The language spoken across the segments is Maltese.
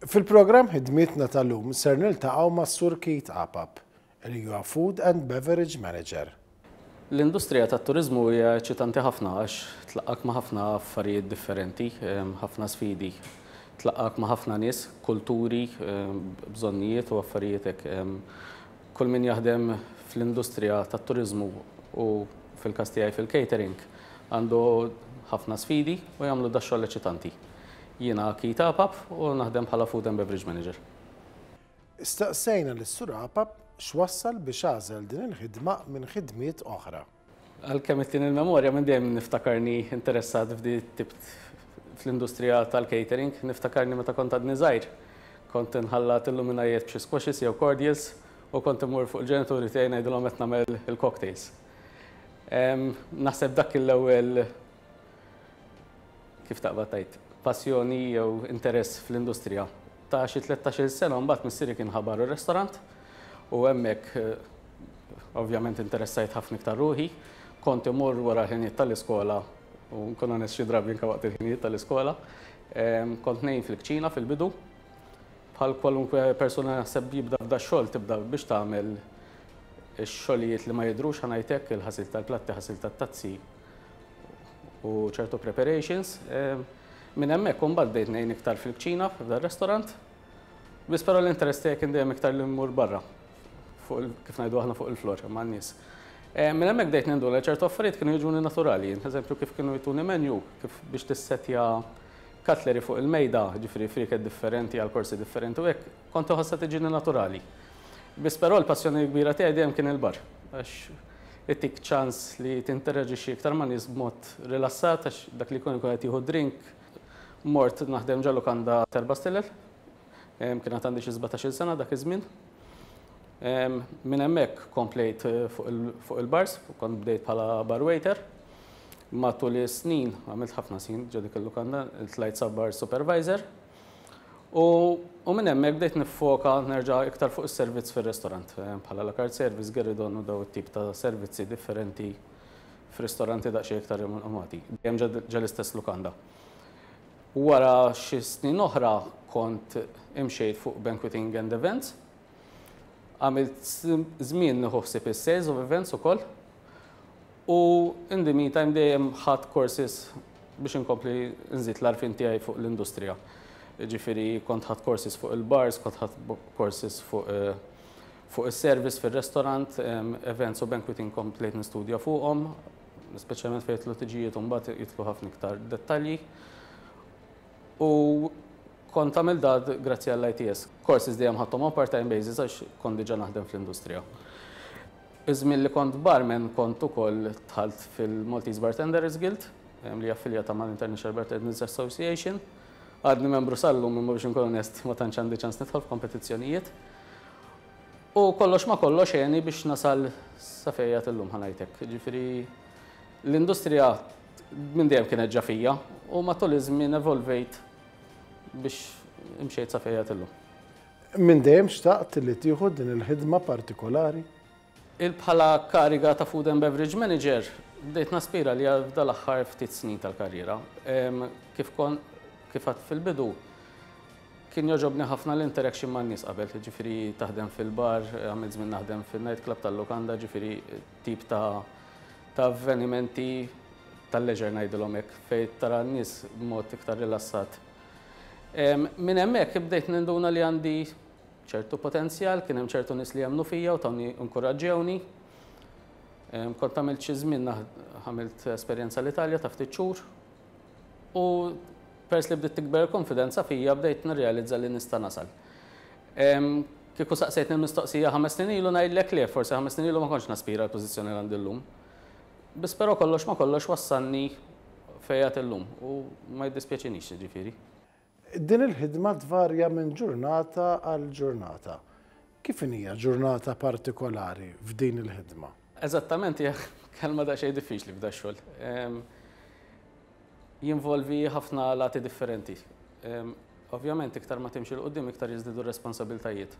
Fil-programm Ħidmietna tal-lum ser niltaqgħu mas-Sur Keith Apap, li huwa Food and Beverage Manager. L-industrija tat-turiżmu hija eċċitanti ħafna għax tlaqqgħek ma' ħafna affarijiet differenti, ħafna sfidi. Tlaqqgħek ma' ħafna nies, kulturi, bżonnijiet u affarijiet hekk. Kull min jaħdem fl-industrija tat-turiżmu u fil-każ tiegħi fil-catering għandu ħafna sfidi u jagħmlu dax-xogħol eċċitanti. Jiena Keith Apap u naħdem bħala Food and Beverage Manager. Staqsejna lis-Sur Apap x'wassal biex għażel din il-ħidma minn ħidmiet oħra. Għalkemm ittini l-memorja minn dejjem niftakarni interessat f'di tip fl-industrija tal-catering, niftakarni meta kont għadni żgħir. Kont inħallat il-luminajiet b'xi squashes jew cordials u kont immur fuq il-ġenituri tiegħi ngħidilhom qed nagħmel il-cocktails. Naħseb dak kien l-ewwel kif taqbad tgħid, passjoni jew interess fl-industrija. Ta' xi 13-il sena mbagħad missieri kien ħabar ir-restaurant u hemmhekk eh, ovvjament interessajt ħafna iktar ruħi. Kont imur wara l-ħinijiet tal-iskola u nkun onest xi drabi anke waqt il-ħinijiet tal-iskola. Kont ngħin fil-kċina fil-bidu. Bħal kwalunkwe persuna naħseb jibda f'da xogħol tibda biex tagħmel ix-xogħlijiet li ma jidhrux ħa ngħid hekk, il-ħasil tal-platti, ħasil tat-tazzi, u ċertu preparations. Minn hemmhekk imbagħad bdejt ngħin iktar fil-kċina f'dar-restaurant. Biss però l-interess tiegħi kien dejjem iktar li mmur barra fuq kif ngħidu aħna fuq il-flor man-nies. Minn hemmhekk bdejt ninduna li ċertu affarijiet kienu jiġuni naturali. Eżempju kif kienu jtuni menu, kif biex tissetja cutlery fuq il-mejda, ġifieri frieket differenti għal korsi differenti u hekk, kont inħossha tiġini naturali. Biss però l-passjoni kbira tiegħi dejjem kien il-bar. Għax itik ċans li tinteraġixxi iktar ma' nies b'mod rilassat għax dak li jkun ikun qed jieħu drink. Mort naħdem ġo lukanda t'erba' stilel. Kien għad għandi xi 17-il sena dak iż-żmien. Minn hemmhekk komplejt fuq il-bars, kont bdejt bħala bar waiter. Matul is-snin, għamilt ħafna snin ġo dik il-lukanda, tlajt sa bar supervisor. U, u minn hemmhekk bdejt niffoka nerġa' iktar fuq is-servizz fir-restorant, eh, bħala la carte service, gueridon u daw it-tip ta' servizzi differenti f'ristoranti daqsxejn iktar rinomati. Dejjem ġa l-istess lukanda. Wara xi snin oħra kont imxejt fuq banqueting and events. Għamilt żmien nieħu ħsieb is-sales of events ukoll. U in the meantime dejjem ħadt courses biex inkompli nżid l-għarfien tiegħi fuq l-industrija. Jiġifieri kont ħadt courses fuq il-bars, kont ħadt courses fuq fuq is-service fir-restaurant, events u banqueting komplejt nistudja fuqhom, speċjalment fejn jidħlu tiġijiet u mbagħad jidħlu ħafna iktar dettalji. U kont għamilt dat grazzi għall-ITS. Courses dejjem ħadthom on part-time basis għax kont diġà naħdem fl-industrija. Iż-żmien li kont barman kont ukoll dħalt fil-Maltese Bartenders Guild, li hija affiljata mal-International Bartenders Association. Għadni membru sal-lum imma biex inkun onest ma tantx għandi ċans nidħol f'kompetizzjonijiet. U kollox ma kollox għeni biex nasal sa fejn qiegħed illum ħa ngħid hekk. Jiġifieri l-industrija minn dejjem kienet ġa fija u matul iż-żmien evolvejt biex imxejt sa fejn qiegħed illum. Minn dejjem xtaqt li tieħu din il-ħidma partikolari? Il Bħala kariga ta' Food and Beverage Manager bdejt naspira għaliha f'dal-aħħar ftit snin tal-karriera. Kif kon kif għedt fil-bidu, kien jogħġobni ħafna l-interaction man-nies qabel, jiġifieri taħdem fil-bar, għamilt żmien naħdem fin-night club tal-lukanda, ġifieri tip ta' ta' avvenimenti tal-leisure ngħidilhom hekk, fejn tara n-nies b'mod iktar rilassat. Minn hemmhekk bdejt ninduna li għandi ċertu potenzjal, kien hemm ċertu nies li jemmnu fija u tawni inkuraġġewni. Kont għamilt xi żmien għamilt esperjenza l-Italja ta' ftit xhur u pers li bdiet tikber il-konfidenza fija bdejt nirrealizza li nista' nasal. Kieku saqsejtni l-mistoqsija ħames snin ilu ngħidlek le, forsi ħames snin ilu ma kontx naspira l-pożizzjoni li għandi llum. Biss però kollox ma kollox wassalni fejn qiegħed illum u ma jiddispjaċinix jiġifieri. Din il-ħidma tvarja minn ġurnata għal ġurnata. Kif inhija ġurnata partikolari f'din il-ħidma? Eżattament hija kelma daqsxejn diffiċli f'dax-xogħol. Jinvolvi ħafna lati differenti. Ovvjament iktar ma timxi 'l quddiem iktar jiżdiedu r-responsabiltajiet.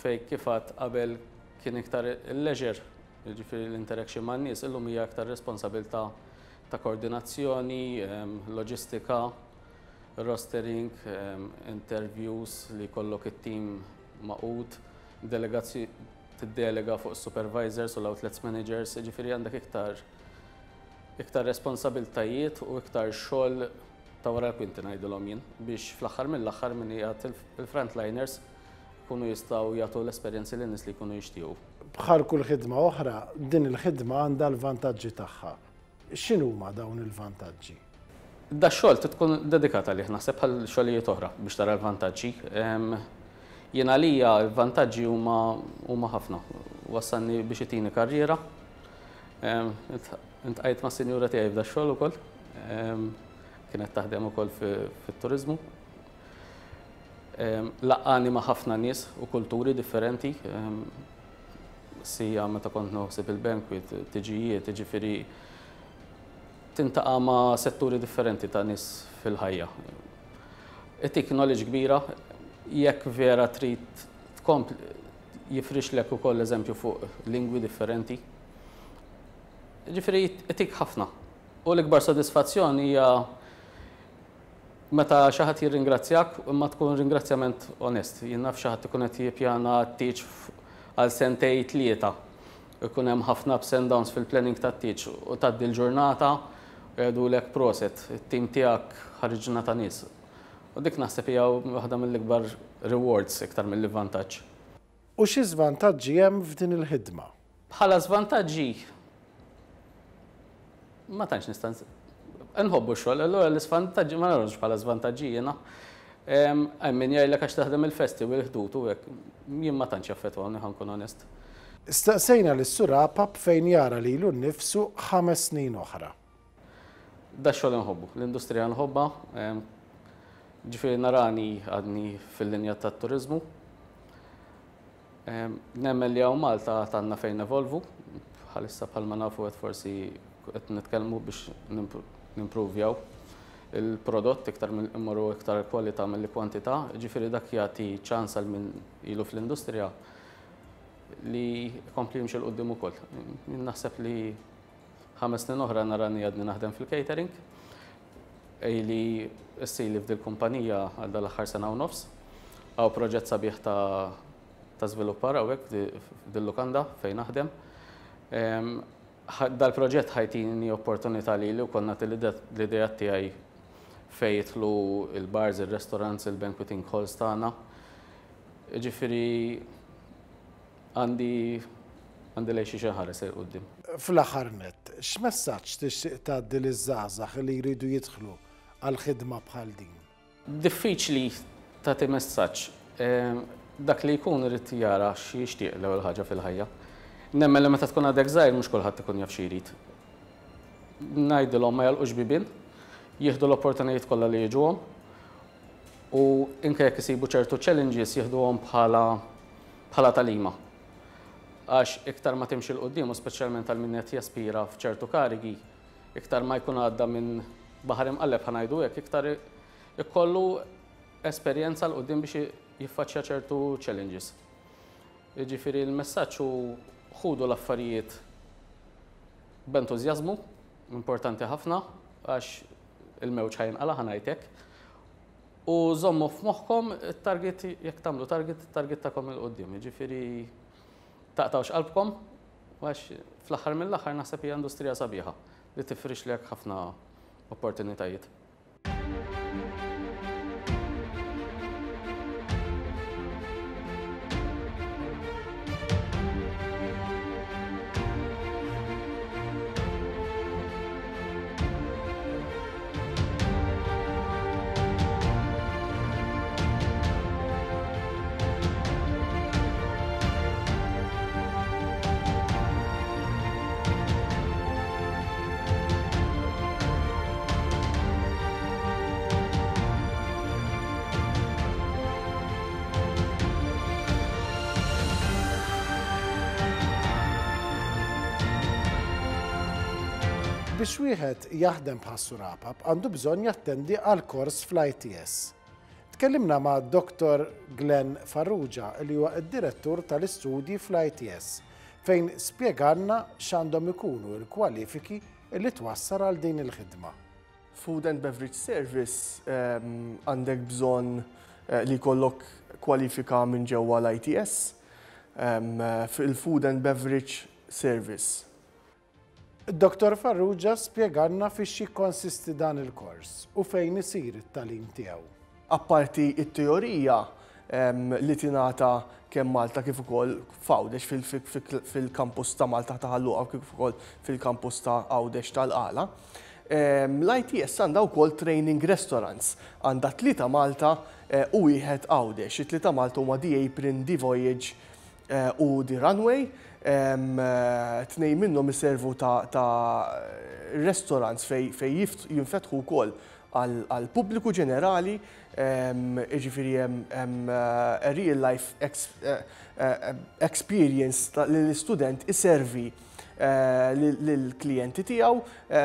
Fejn kif għedt qabel kien iktar il-leisure, jiġifieri l-interaction man-nies, illum hija iktar responsabilità ta' koordinazzjoni, loġistika. Rostering, interviews li jkollok it-tim magħqud, delegazzji tiddelega fuq is-supervisors u l-outlets managers, jiġifieri għandek iktar iktar responsabiltajiet u iktar xogħol ta' wara l-kwinti ngħidilhom jien biex fl-aħħar mill-aħħar min qiegħed il-frontliners ikunu jistgħu jagħtu l-esperjenzi lin-nies li jkunu jixtiequ. Bħal kull ħidma oħra, din il-ħidma għandha l-vantaġġi tagħha. X'inhuma dawn il-vantaġġi? Dax-xogħol trid tkun dedikat għalih naħseb bħal xogħlijiet oħra biex tara l-vantaġġi. Jien għalija l-vantaġġi huma huma ħafna. Wassalni biex itini karriera. Intqajt mas-sinjura tiegħi f'dax-xogħol ukoll. Kienet taħdem ukoll fit-turiżmu. Laqqani ma' ħafna nies u kulturi differenti. Sija meta kont noħsib il-banquet, tiġijiet, jiġifieri tintaqa' ma' setturi differenti ta' nies fil-ħajja. Itik knowledge kbira, jekk vera trid tkompli jifrixlek ukoll eżempju fuq lingwi differenti. Jiġifieri itik ħafna. U l-ikbar sodisfazzjon hija Meta xi ħadd jirringrazzjak, imma tkun ringrazzjament onest. Jien naf xi ħadd ikun qed jippjana t-tieġ għal sentej tlieta. Ikun hemm ħafna ups and downs fil-planning tat-tieġ u tgħaddi l-ġurnata u jgħidulek proset, it-tim tiegħek ħariġna ta' nies. U dik naħseb hija waħda mill-ikbar rewards iktar milli vantaġġ. U xi żvantaġġi hemm f'din il-ħidma? Bħala żvantaġġi ma tantx nista' nħobbu x-xogħol, allura l-iżvantaġġi ma narahomx bħala żvantaġġi jiena. Hemm min jgħidlek għax taħdem il-festi u l-ħdud u hekk, jien ma tantx jaffettwawni ħa nkun onest. Staqsejna lis-Sur Apap fejn jara lilu nnifsu ħames snin oħra. Dax-xogħol inħobbu, l-industrija nħobbha, ġifieri narani għadni fil-linja tat-turiżmu. Nemmen li hawn Malta għad għandna fejn nevolvu, bħalissa bħalma nafu qed forsi qed nitkellmu biex nimpruvjaw il-prodott iktar immorru iktar kwalità milli kwantità, ġifieri dak jagħti ċans għal min ilu fl-industrija li jkompli jimxi 'l quddiem ukoll. Jien naħseb li ħames snin oħra narani għadni naħdem fil-catering. Ili issili f'dil-kumpanija għal dal-aħħar sena u nofs. Hawn proġett sabiħ ta' ta' żviluppar hawnhekk f'dil-lukanda fejn naħdem. Dal-proġett ħa jtini opportunità lili wkoll nagħti l-ideat tiegħi fejn jidħlu l-bars, ir-restaurants, il-banqueting halls tagħna. Jiġifieri Għandi għandi lejn xiex inħares 'il quddiem. Fl-aħħar nett, x'messaġġ tixtieq tgħaddi liż-żgħażagħ li jridu jidħlu għal ħidma bħal din? Diffiċli tagħti messaġġ. Dak li jkun irid jara x'jixtieq l-ewwel ħaġa fil-ħajja. Nemmen li meta tkun għadek żgħir mhux kulħadd ikun jaf xi jrid. Ngħidilhom ma jagħlqux bibien, jieħdu l-opportunitajiet kollha li jiġuhom u inke jekk isibu ċertu challenges jieħduhom bħala bħala tagħlima. Għax iktar ma timxi 'l quddiem u speċjalment għal min qed jaspira f'ċertu karigi, iktar ma jkun għadda minn baħar imqalleb ħa ngħidu hekk, iktar ikollu esperjenza 'l quddiem biex jiffaċċja ċertu challenges. Jiġifieri l-messaġġ hu ħudu l-affarijiet b'entużjażmu, importanti ħafna għax il-mewġ ħa jinqala' ħa ngħid hekk. U żommu f'moħħkom it-target, jekk tagħmlu target, it-target tagħkom 'il quddiem. Jiġifieri taqtgħux qalbkom għax fl-aħħar mill-aħħar naħseb hija industrija sabiħa li tifrixlek ħafna opportunitajiet. Biex wieħed jaħdem bħas-Sur Apap għandu bżonn jattendi għal kors fl-ITS. Tkellimna ma' Dottor Glenn Farrugia li huwa d-Direttur tal-Istudji fl-ITS fejn spjegalna x'għandhom ikunu l-kwalifiki li twassal għal din il-ħidma. Food and Beverage Service għandek bżonn li jkollok kwalifika minn ġewwa l-ITS fil-Food and Beverage Service. Dottor Farrugia spjegalna fiex jikkonsisti dan il-kors u fejn isir it-tagħlim tiegħu. Apparti t-teorija li tingħata kemm Malta kif ukoll f'Għawdex fil-kampus ta' Malta ta' Ħal Luqa kif ukoll fil-kampus ta' Għawdex tal-Qala, l-ITS għandha wkoll training restaurants. Għandha tlieta Malta u wieħed Għawdex. It-tlieta Malta huma The Apron, The Voyage u The Runway. Tnejn minnhom iservu ta' restaurants fejn jinfetħu wkoll għall-pubbliku ġenerali, jiġifieri hemm a real life experience li l-istudent iservi lill-klijenti tiegħu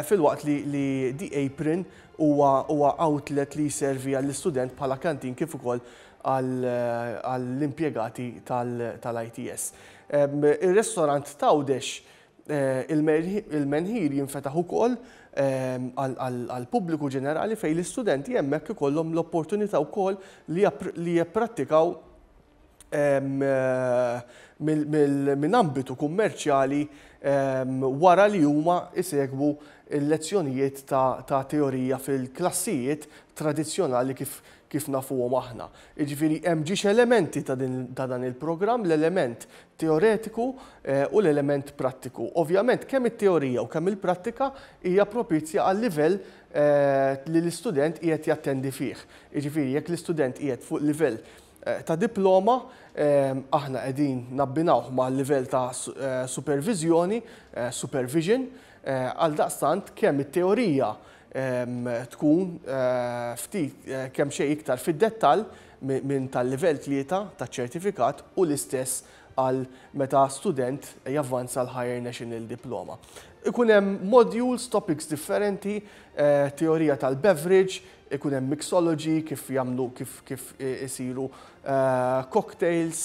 filwaqt li The Apron huwa outlet li jservi għall-istudent bħala canteen kif ukoll għall-impjegati tal-ITS. Ir-restorant t'Għawdex Il-menħir jinfetaħ ukoll għall-pubbliku ġenerali fejn l-istudenti hemmhekk ikollhom l-opportunità wkoll li jipprattikaw minn ambitu kummerċjali wara li huma jsegwu l-lezzjonijiet ta' teorija fil-klassijiet tradizzjonali kif nafuhom aħna. Jiġifieri hemm ġiex elementi ta' dan il-programm, l-element teoretiku u l-element prattiku. Ovvjament kemm it-teorija u kemm il-prattika hija propizja għal-livell li l-istudent qiegħed jattendi fih. Jiġifieri jekk l-istudent qiegħed fuq livell ta' diploma, aħna qegħdin nabbinawh ma' livell ta' superviżjoni, supervision, għaldaqstant kemm it-teorija tkun ftit kemxejn iktar fid-dettall minn tal-livell 3 taċ-ċertifikat u l-istess għal meta student javvanza l-Higher National Diploma. Ikun hemm modules, topics differenti, teorija tal-beverage, ikun hemm mixology, kif jagħmlu kif kif isiru cocktails,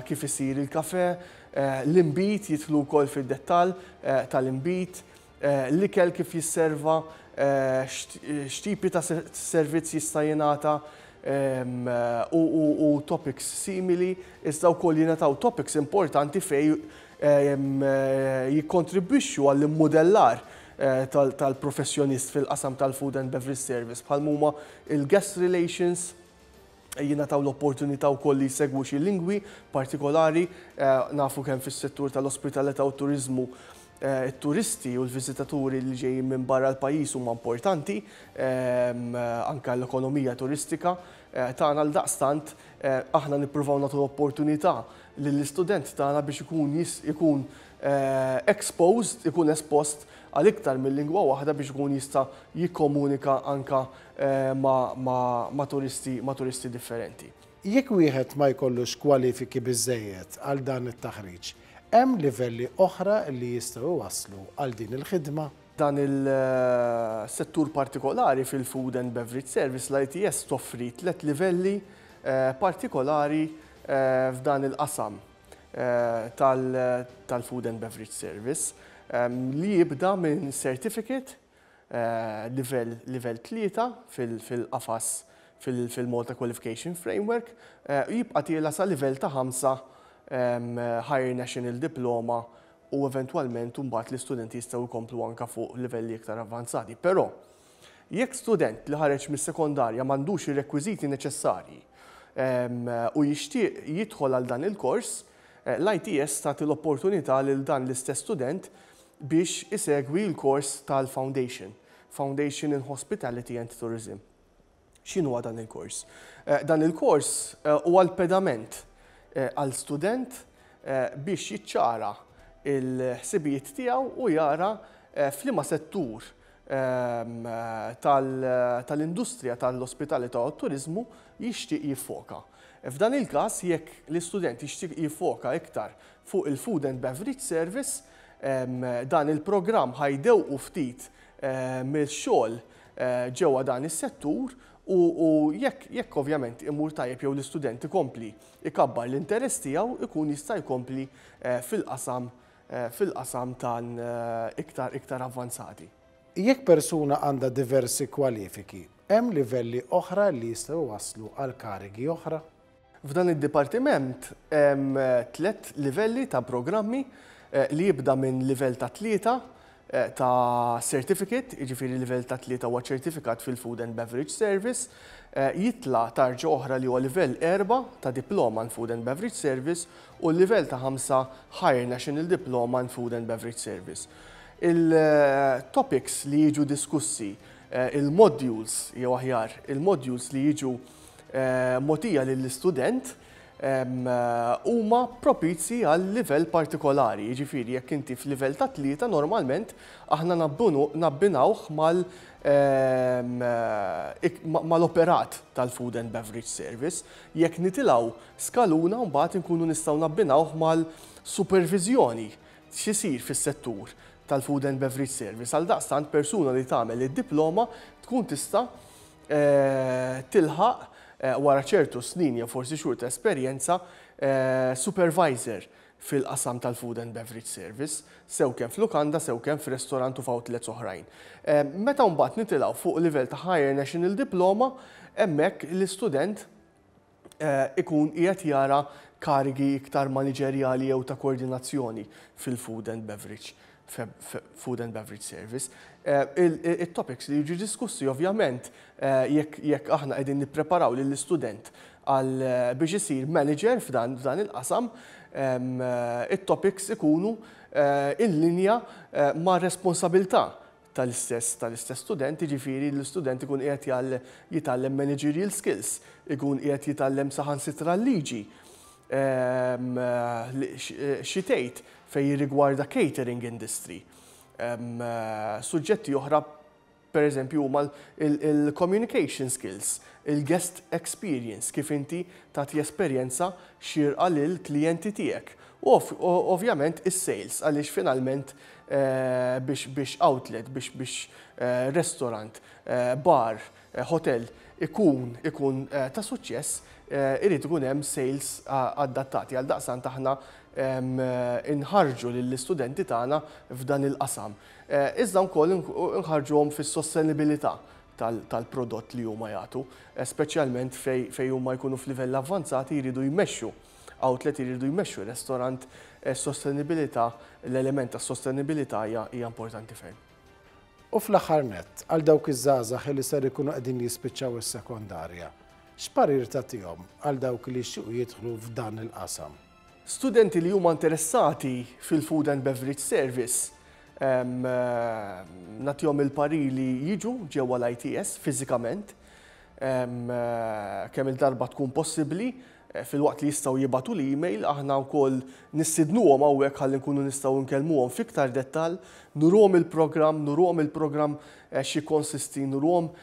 kif isir il-kafe, l-inbid jidħlu wkoll fid-dettall tal-inbid, l-ikel kif jisserva, x'tipi ta' servizz jista' jingħata u topics simili, iżda wkoll jingħataw topics importanti fejn jikkontribwixxu għall-immudellar tal-professjonist fil-qasam tal-food and beverage service bħal huma il-guest relations, jingħataw l-opportunità wkoll li jsegwu xi lingwi partikolari, nafu kemm fis-settur tal-ospitalità u turiżmu it-turisti u l-viżitaturi li ġejjin minn barra l-pajjiż huma importanti anke l-ekonomija turistika tagħna. Għaldaqstant aħna nippruvaw nagħtu l-opportunità lill-istudent tagħna biex ikun ikun exposed, ikun espost għal iktar minn lingwa waħda biex ikun jista' jikkomunika anka ma' turisti ma' turisti differenti. Jekk wieħed ma jkollux kwalifiki biżejjed għal dan it-taħriġ, hemm livelli oħra li jistgħu iwasslu għal din il-ħidma? Dan il-settur partikolari fil-Food and Beverage Service, l-ITS toffri tlet livelli partikolari f'dan il-qasam tal-Food and Beverage Service li jibda minn certificate livell 3 fil-qafas fil-Malta Qualification Framework u jibqa' tiela sa livell ta' 5 Higher National Diploma u eventwalment mbagħad l-istudenti jistgħu jkomplu anka fuq livelli iktar avvanzati. Però jekk student li ħareġ mis-sekondarja m'għandux ir-rekwiżiti neċessarji u jixtieq jidħol għal dan il-kors, l-ITS tagħti l-opportunità lil dan l-istess student biex isegwi l-kors tal-Foundation, Foundation in Hospitality and Tourism. X'inhu dan il-kors? Dan il-kors huwa l-pedament għal student biex jiċċara il-ħsibijiet tiegħu u jara f'liema settur tal-industrija tal-ospitalità u t-turiżmu jixtieq jiffoka. F'dan il-każ, jekk l-istudent jixtieq jiffoka iktar fuq il-Food and Beverage Service, dan il-programm ħa jdewqu ftit mill-xogħol ġewwa dan is-settur u jekk ovvjament imur tajjeb jew l-istudent ikompli ikabbar l-interess tiegħu, ikun jista' jkompli fil-qasam tan iktar iktar avvanzati. Jekk persuna għandha diversi kwalifiki, hemm livelli oħra li jistgħu jwasslu għal karigi oħra? F'dan id-dipartiment hemm tlett livelli ta' programmi li jibda minn livell ta' tlieta ta' certificate, jiġifieri livell ta' tlieta huwa ċertifikat fil-Food and Beverage Service, jitla' tarġa oħra li huwa livell erba' ta' Diploma in Food and Beverage Service u l-livell ta' ħamsa Higher National Diploma in Food and Beverage Service. Il-topics li jiġu diskussi, il-modules jew aħjar, il-modules li jiġu mogħtija lill-istudent huma propizji għal livell partikolari. Jiġifieri jekk inti f'livell ta' tlieta normalment aħna nabbinawh mal-operat tal-food and beverage service. Jekk nitilgħu skaluna mbagħad inkunu nistgħu nabbinawh mal-superviżjoni x'isir fis-settur tal-food and beverage service. Għaldaqstant persuna li tagħmel id-diploma tkun tista' tilħaq wara ċertu snin jew forsi xhur ta' esperjenza supervisor fil-qasam tal-food and beverage service, sew kemm f'lukanda, sew kemm f'restorant u f'outlets oħrajn. Meta mbagħad nitilgħu fuq livell ta' Higher National Diploma, hemmhekk l-istudent ikun qiegħed jara karigi iktar maniġerjali jew ta' koordinazzjoni fil-food and beverage food and beverage service. Il-topics li jiġu diskussi ovvjament jekk aħna qegħdin nippreparaw lill-istudent għal biex isir manager f'dan il-qasam, it-topics ikunu in linja ma' responsabilità tal-istess student, jiġifieri l-istudent ikun qiegħed jitgħallem managerial skills, ikun qiegħed jitgħallem saħansitra l-liġi xi tgħid fejn jirrigwarda catering industry. Suġġetti oħra per eżempju huma il-communication skills, il-guest experience, kif inti tagħti esperjenza xierqa lill-klijenti tiegħek. U ovvjament is-sales, għaliex finalment biex outlet, biex restaurant, bar, hotel ikun ta' suċċess, irid ikun hemm sales adattati. Għaldaqstant aħna inħarġu lill-istudenti tagħna f'dan il-qasam. Iżda wkoll inħarġuhom fis-sostenibilità tal-prodott li huma jagħtu, speċjalment fejn huma jkunu f'livell avvanzati jridu jmexxu outlet, jridu jmexxu restaurant, sostenibilità, l-element ta' sostenibilità hija importanti ferm. U fl-aħħar nett, għal dawk iż-żgħażagħ li ser ikunu qegħdin jispiċċaw is-sekondarja, x'parir tagħtihom għal dawk li jixtiequ jidħlu f'dan il-qasam? Studenti li huma interessati fil-food and beverage service, nagħtihom il-parir li jiġu ġewwa l-ITS fiżikament, kemm il-darba tkun possibbli, filwaqt li jistgħu jibagħtu l-email, aħna wkoll nistidnuhom hawnhekk ħalli nkunu nistgħu nkellmuhom f'iktar dettall, nuruhom il-programm, nuruhom il-programm xi konsisti, nuruhom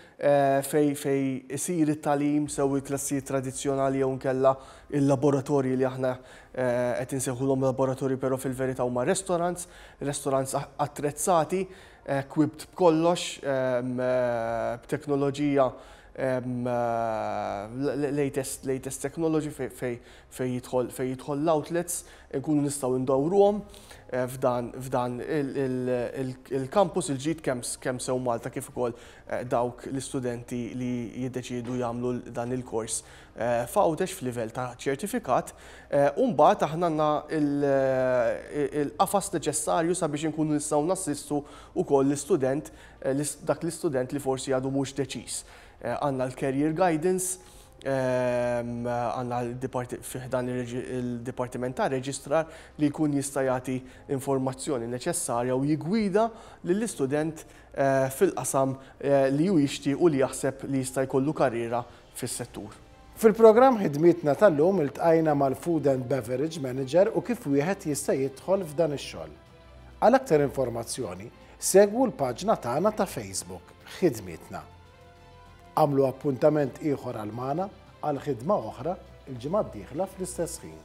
fejn isir it-tagħlim, sew il-klassijiet tradizzjonali jew nkella il-laboratorji li aħna qed insejħulhom laboratorji però fil-verità huma restaurants, restaurants attrezzati, equipped b'kollox, b'teknoloġija latest technology fejn jidħol l-outlets, nkunu nistgħu ndawruhom f'dan il-campus il-ġdid kemm sew Malta kif ukoll dawk l-istudenti li jiddeċiedu jagħmlu dan il-kors f'Għawdex f'livell ta' ċertifikat. U mbagħad aħna għandna il-qafas neċessarju sabiex inkunu nistgħu nassistu wkoll l-istudent, dak l-istudent li forsi għadu mhux deċiż. Għandna l-career guidance, għandna fi ħdan il-Dipartiment ta' Registrar li jkun jista' jagħti informazzjoni neċessarja u jigwida lill-istudent fil-qasam li hu jixtieq u li jaħseb li jista' jkollu karriera fis-settur. Fil-programm Ħidmietna tal-lum iltqajna mal-Food and Beverage Manager u kif wieħed jista' jidħol f'dan ix-xogħol. Għal aktar informazzjoni, segwu l-paġna tagħna ta' Facebook, Ħidmietna. Għamlu appuntament ieħor għal magħna għal ħidma oħra il-ġimgħa d-dieħla fl-istess ħin.